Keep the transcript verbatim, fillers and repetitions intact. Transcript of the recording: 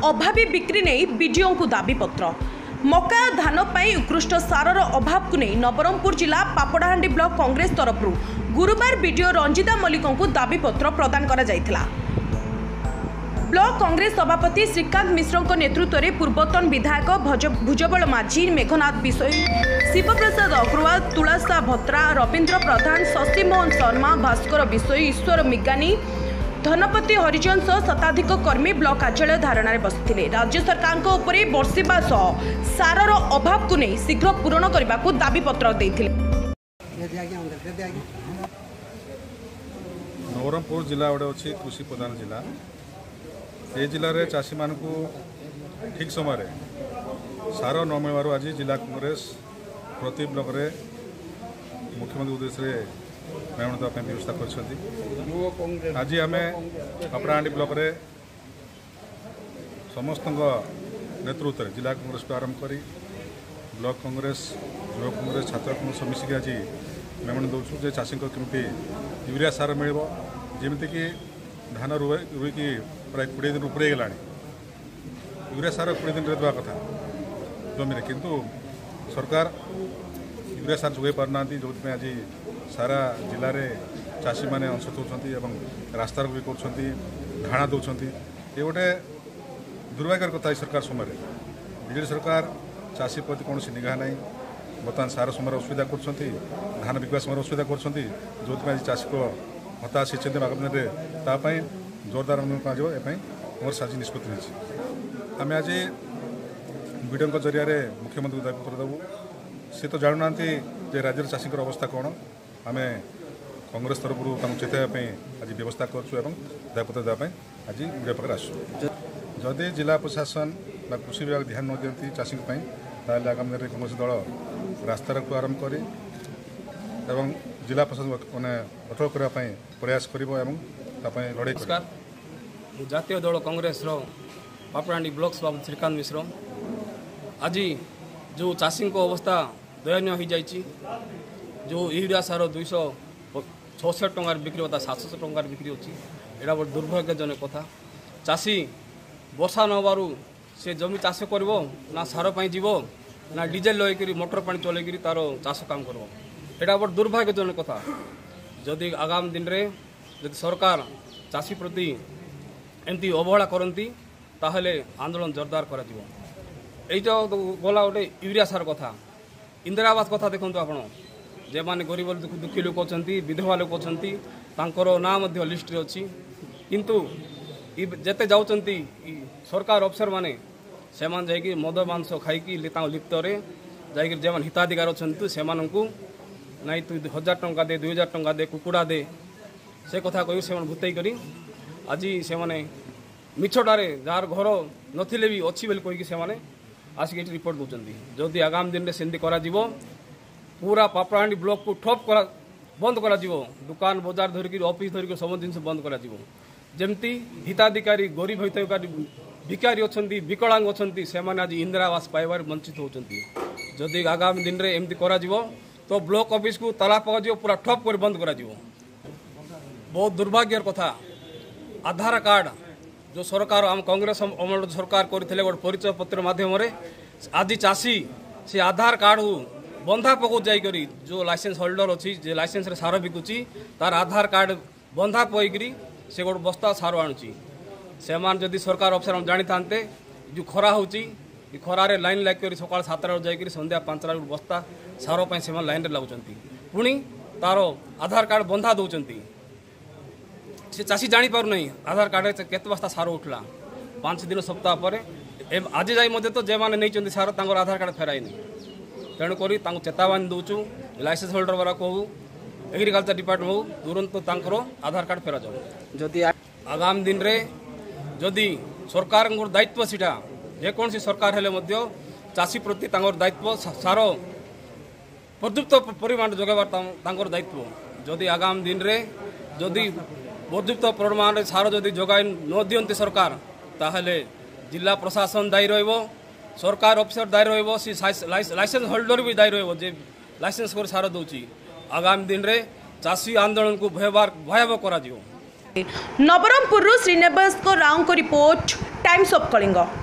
ଅଭାବୀ ବିକ୍ରି ନେଇ ବିଡିଓଙ୍କୁ ଦାବିପତ୍ର। ମକା ଧାନ ପାଇଁ ଉତ୍କୃଷ୍ଟ ସାରର ଅଭାବକୁ ନେଇ ନବରଙ୍ଗପୁର ଜିଲ୍ଲା ପାପଡ଼ାହାଣ୍ଡି ବ୍ଲକ କଂଗ୍ରେସ ତରଫରୁ ଗୁରୁବାର ବିଡିଓ ରଞ୍ଜିତା ମଲ୍ଲିକଙ୍କୁ ଦାବିପତ୍ର ପ୍ରଦାନ କରାଯାଇଥିଲା। ବ୍ଲକ କଂଗ୍ରେସ ସଭାପତି ଶ୍ରୀକାନ୍ତ ମିଶ୍ରଙ୍କ ନେତୃତ୍ୱରେ ପୂର୍ବତନ ବିଧାୟକ ଭୁଜବଳ ମାଝୀ, ମେଘନାଥ ବିଷୋୟୀ, ଶିବପ୍ରସାଦ ଅଗ୍ରୱାଲ, ତୁଳସା ଭତ୍ରା, ରବୀନ୍ଦ୍ର ପ୍ରଧାନ, ଶଶିମୋହନ ଶର୍ମା, ଭାସ୍କର ବିଷୋୟୀ, ଈଶ୍ୱର ମିଗାନୀ, ଧନପତି ହରିଜନ ସହ ଶତାଧିକ କର୍ମୀ ବ୍ଲକ କାର୍ଯ୍ୟାଳୟ ଧାରଣାରେ ବସିଥିଲେ। ରାଜ୍ୟ ସରକାରଙ୍କ ଉପରେ ବର୍ଷିବା ସହ ସାରର ଅଭାବକୁ ନେଇ ଶୀଘ୍ର ପୂରଣ କରିବାକୁ ଦାବିପତ୍ର ଦେଇଥିଲେ। ନବରଙ୍ଗପୁର ଜିଲ୍ଲା ଗୋଟେ ଅଛି କୃଷି ପ୍ରଧାନ ଜିଲ୍ଲା। ଏ ଜିଲ୍ଲାରେ ଚାଷୀମାନଙ୍କୁ ଠିକ୍ ସମୟରେ ସାର ନ ମିଳିବାରୁ ଆଜି ଜିଲ୍ଲା କଂଗ୍ରେସ ପ୍ରତି ବ୍ଲକରେ ମୁଖ୍ୟମନ୍ତ୍ରୀ ଉଦ୍ଦେଶ୍ୟରେ ମେମୋ ଦେବା ପାଇଁ ବ୍ୟବସ୍ଥା କରିଛନ୍ତି। ଆଜି ଆମେ ପାପଡ଼ାହାଣ୍ଡି ବ୍ଲକରେ ସମସ୍ତଙ୍କ ନେତୃତ୍ୱରେ ଜିଲ୍ଲା କଂଗ୍ରେସଠୁ ଆରମ୍ଭ କରି ବ୍ଲକ କଂଗ୍ରେସ, ଯୁବ କଂଗ୍ରେସ, ଛାତ୍ର କଂଗ୍ରେସ ମିଶିକି ଆଜି ମେମୋ ଦେଉଛୁ ଯେ ଚାଷୀଙ୍କ କେମିତି ୟୁରିଆ ସାର ମିଳିବ। ଯେମିତିକି ଧାନ ରୁଇକି ପ୍ରାୟ କୋଡ଼ିଏ ଦିନ ଉପରେ ହେଇଗଲାଣି, ୟୁରିଆ ସାର କୋଡ଼ିଏ ଦିନରେ ଦେବା କଥା ଜମିରେ, କିନ୍ତୁ ସରକାର ୟୁରିଆ ସାର ଯୋଗାଇ ପାରୁନାହାନ୍ତି। ଯେଉଁଥିପାଇଁ ଆଜି ସାରା ଜିଲ୍ଲାରେ ଚାଷୀମାନେ ଅଂଶ ଦେଉଛନ୍ତି ଏବଂ ରାସ୍ତାରୋକ ବି କରୁଛନ୍ତି, ଧାରଣା ଦେଉଛନ୍ତି। ଏ ଗୋଟେ ଦୁର୍ଭାଗ୍ୟର କଥା। ଏ ସରକାର ସମୟରେ ବିଜେଡ଼ି ସରକାର ଚାଷୀ ପ୍ରତି କୌଣସି ନିଘା ନାହିଁ। ବର୍ତ୍ତମାନ ସାର ସମୟରେ ଅସୁବିଧା କରୁଛନ୍ତି, ଧାନ ବିକିବା ସମୟରେ ଅସୁବିଧା କରୁଛନ୍ତି, ଯେଉଁଥିପାଇଁ ଆଜି ଚାଷୀଙ୍କ ହତାଶ ହେଇଛନ୍ତି। ଆଗାମୀ ଦିନରେ ତା ପାଇଁ ଜୋରଦାର ଆନ୍ଦୋଳନ କରାଯିବ, ଏ ପାଇଁ କଂଗ୍ରେସ ଆଜି ନିଷ୍ପତ୍ତି ନେଇଛି। ଆମେ ଆଜି ବିଡ଼ିଓଙ୍କ ଜରିଆରେ ମୁଖ୍ୟମନ୍ତ୍ରୀଙ୍କୁ ଦାବିପତ୍ର ଦେବୁ। ସେ ତ ଜାଣୁନାହାନ୍ତି ଯେ ରାଜ୍ୟର ଚାଷୀଙ୍କର ଅବସ୍ଥା କ'ଣ। ଆମେ କଂଗ୍ରେସ ତରଫରୁ ତାଙ୍କୁ ଚେତାଇବା ପାଇଁ ଆଜି ବ୍ୟବସ୍ଥା କରୁଛୁ ଏବଂ ଦାବିପତ୍ର ଦେବା ପାଇଁ ଆଜି ମିଡ଼ିଆ ପାଖରେ ଆସୁଛୁ। ଯଦି ଜିଲ୍ଲା ପ୍ରଶାସନ ବା କୃଷି ବିଭାଗ ଧ୍ୟାନ ନ ଦିଅନ୍ତି ଚାଷୀଙ୍କ ପାଇଁ, ତାହେଲେ ଆଗାମୀ ଦିନରେ କଂଗ୍ରେସ ଦଳ ରାସ୍ତାରୋକଠୁ ଆରମ୍ଭ କରି ଏବଂ ଜିଲ୍ଲା ପ୍ରଶାସନ ମାନେ ଅଟଳ କରିବା ପାଇଁ ପ୍ରୟାସ କରିବ ଏବଂ ତା ପାଇଁ ଲଢ଼େଇ କରିବ। ନମସ୍କାର, ମୁଁ ଜାତୀୟ ଦଳ କଂଗ୍ରେସର ପାପଡ଼ାହାଣ୍ଡି ବ୍ଲକ ସଭାପତି ଶ୍ରୀକାନ୍ତ ମିଶ୍ର। ଆଜି ଯେଉଁ ଚାଷୀଙ୍କ ଅବସ୍ଥା ଦୟନୀୟ ହୋଇଯାଇଛି, ଯେଉଁ ୟୁରିଆ ସାର ଦୁଇଶହ ଛଅଷଠି ଟଙ୍କାରେ ବିକ୍ରି କଥା ସାତଶହ ଟଙ୍କାରେ ବିକ୍ରି ଅଛି, ଏଇଟା ଗୋଟେ ଦୁର୍ଭାଗ୍ୟଜନକ କଥା। ଚାଷୀ ବର୍ଷା ନ ହେବାରୁ ସେ ଜମି ଚାଷ କରିବ ନା ସାର ପାଇଁ ଯିବ ନା ଡିଜେଲ ଲଗେଇକରି ମଟର ପାଣି ଚଲେଇକରି ତାର ଚାଷ କାମ କରିବ, ଏଇଟା ଗୋଟେ ଦୁର୍ଭାଗ୍ୟଜନକ କଥା। ଯଦି ଆଗାମୀ ଦିନରେ ଯଦି ସରକାର ଚାଷୀ ପ୍ରତି ଏମିତି ଅବହେଳା କରନ୍ତି, ତାହେଲେ ଆନ୍ଦୋଳନ ଜୋରଦାର କରାଯିବ। ଏଇଟା ଗଲା ଗୋଟେ ୟୁରିଆ ସାର କଥା। ଇନ୍ଦିରା ଆବାସ କଥା ଦେଖନ୍ତୁ ଆପଣ, ଯେଉଁମାନେ ଗରିବ ଦୁଃଖୀ ଲୋକ ଅଛନ୍ତି, ବିଧବା ଲୋକ ଅଛନ୍ତି, ତାଙ୍କର ନାଁ ମଧ୍ୟ ଲିଷ୍ଟରେ ଅଛି, କିନ୍ତୁ ଯେତେ ଯାଉଛନ୍ତି ସରକାର ଅଫିସରମାନେ, ସେମାନେ ଯାଇକି ମଦ ମାଂସ ଖାଇକି ତାଙ୍କ ଲିପ୍ତରେ ଯାଇକି ଯେଉଁମାନେ ହିତାଧିକାର ଅଛନ୍ତି ସେମାନଙ୍କୁ ନାଇଁ ତୁ ହଜାର ଟଙ୍କା ଦେ, ଦୁଇ ହଜାର ଟଙ୍କା ଦେ, କୁକୁଡ଼ା ଦେ, ସେ କଥା କହି ସେମାନେ ଭୂତେଇ କରି ଆଜି ସେମାନେ ମିଛଟାରେ ଯାହାର ଘର ନଥିଲେ ବି ଅଛି ବୋଲି କହିକି ସେମାନେ ଆସିକି ଏଠି ରିପୋର୍ଟ ଦେଉଛନ୍ତି। ଯଦି ଆଗାମୀ ଦିନରେ ସେମିତି କରାଯିବ, ପୁରା ପାପଡ଼ାହାଣ୍ଡି ବ୍ଲକକୁ ଠପ୍ କରା ବନ୍ଦ କରାଯିବ। ଦୋକାନ ବଜାର ଧରିକି ଅଫିସ୍ ଧରିକି ସବୁ ଜିନିଷ ବନ୍ଦ କରାଯିବ। ଯେମିତି ହିତାଧିକାରୀ ଗରିବ ହିତାଧିକାରୀ ଭିକାରୀ ଅଛନ୍ତି, ବିକଳାଙ୍ଗ ଅଛନ୍ତି, ସେମାନେ ଆଜି ଇନ୍ଦିରା ଆବାସ ପାଇବାରେ ବଞ୍ଚିତ ହେଉଛନ୍ତି। ଯଦି ଆଗାମୀ ଦିନରେ ଏମିତି କରାଯିବ ତ ବ୍ଲକ ଅଫିସକୁ ତାଲା ପକାଯିବ, ପୁରା ଠପ୍ କରି ବନ୍ଦ କରାଯିବ। ବହୁତ ଦୁର୍ଭାଗ୍ୟର କଥା, ଆଧାର କାର୍ଡ଼ ଯେଉଁ ସରକାର ଆମ କଂଗ୍ରେସ ଅମଳ ସରକାର କରିଥିଲେ ଗୋଟେ ପରିଚୟ ପତ୍ର ମାଧ୍ୟମରେ, ଆଜି ଚାଷୀ ସେ ଆଧାର କାର୍ଡ଼କୁ ବନ୍ଧା ପକାଉ ଯାଇକରି ଯେଉଁ ଲାଇସେନ୍ସ ହୋଲ୍ଡର ଅଛି, ଯେ ଲାଇସେନ୍ସରେ ସାର ବିକୁଛି, ତାର ଆଧାର କାର୍ଡ଼ ବନ୍ଧା ପକାଇକରି ସେ ଗୋଟେ ବସ୍ତା ସାର ଆଣୁଛି। ସେମାନେ ଯଦି ସରକାର ଅଫିସର ଜାଣିଥାନ୍ତେ ଯେଉଁ ଖରା ହେଉଛି, ଏ ଖରାରେ ଲାଇନ୍ ଲାଗିକରି ସକାଳ ସାତଟାରୁ ଯାଇକରି ସନ୍ଧ୍ୟା ପାଞ୍ଚଟା ଗୋଟେ ବସ୍ତା ସାର ପାଇଁ ସେମାନେ ଲାଇନ୍ରେ ଲାଗୁଛନ୍ତି, ପୁଣି ତାର ଆଧାର କାର୍ଡ଼ ବନ୍ଧା ଦେଉଛନ୍ତି। ସେ ଚାଷୀ ଜାଣିପାରୁନାହିଁ ଆଧାର କାର୍ଡ଼ରେ କେତେ ବସ୍ତା ସାର ଉଠିଲା। ପାଞ୍ଚ ଦିନ ସପ୍ତାହ ପରେ ଆଜି ଯାଇ ମଧ୍ୟ ତ ଯେଉଁମାନେ ନେଇଛନ୍ତି ସାର ତାଙ୍କର ଆଧାର କାର୍ଡ଼ ଫେରାଇନି। ତେଣୁକରି ତାଙ୍କୁ ଚେତାବନୀ ଦେଉଛୁ, ଲାଇସେନ୍ସ ହୋଲ୍ଡର ବାଲା କହୁ, ଏଗ୍ରିକଲଚର ଡିପାର୍ଟମେଣ୍ଟ ହଉ, ତୁରନ୍ତ ତାଙ୍କର ଆଧାର କାର୍ଡ଼ ଫେରାଯାଉ। ଯଦି ଆଗାମୀ ଦିନରେ ଯଦି ସରକାରଙ୍କର ଦାୟିତ୍ୱ ସେଇଟା, ଯେକୌଣସି ସରକାର ହେଲେ ମଧ୍ୟ ଚାଷୀ ପ୍ରତି ତାଙ୍କର ଦାୟିତ୍ୱ ସାର ପର୍ଯ୍ୟାପ୍ତ ପରିମାଣ ଯୋଗାଇବା ତାଙ୍କର ଦାୟିତ୍ୱ। ଯଦି ଆଗାମୀ ଦିନରେ ଯଦି ପର୍ଯ୍ୟାପ୍ତ ପରିମାଣରେ ସାର ଯଦି ଯୋଗାଇ ନ ଦିଅନ୍ତି ସରକାର, ତାହେଲେ ଜିଲ୍ଲା ପ୍ରଶାସନ ଦାୟୀ ରହିବ, ସରକାର ଅଫିସର ଦାୟୀ ରହିବ, ସେ ଲାଇସେନ୍ସ ହୋଲ୍ଡର ବି ଦାୟୀ ରହିବ ଯେ ଲାଇସେନ୍ସ କରି ସାର ଦେଉଛି। ଆଗାମୀ ଦିନରେ ଚାଷୀ ଆନ୍ଦୋଳନକୁ ଭୟାବହ କରାଯିବ। ନବରଙ୍ଗପୁରରୁ ଶ୍ରୀନିବାସ ରାଓଙ୍କ ରିପୋର୍ଟ, Times of Kalinga.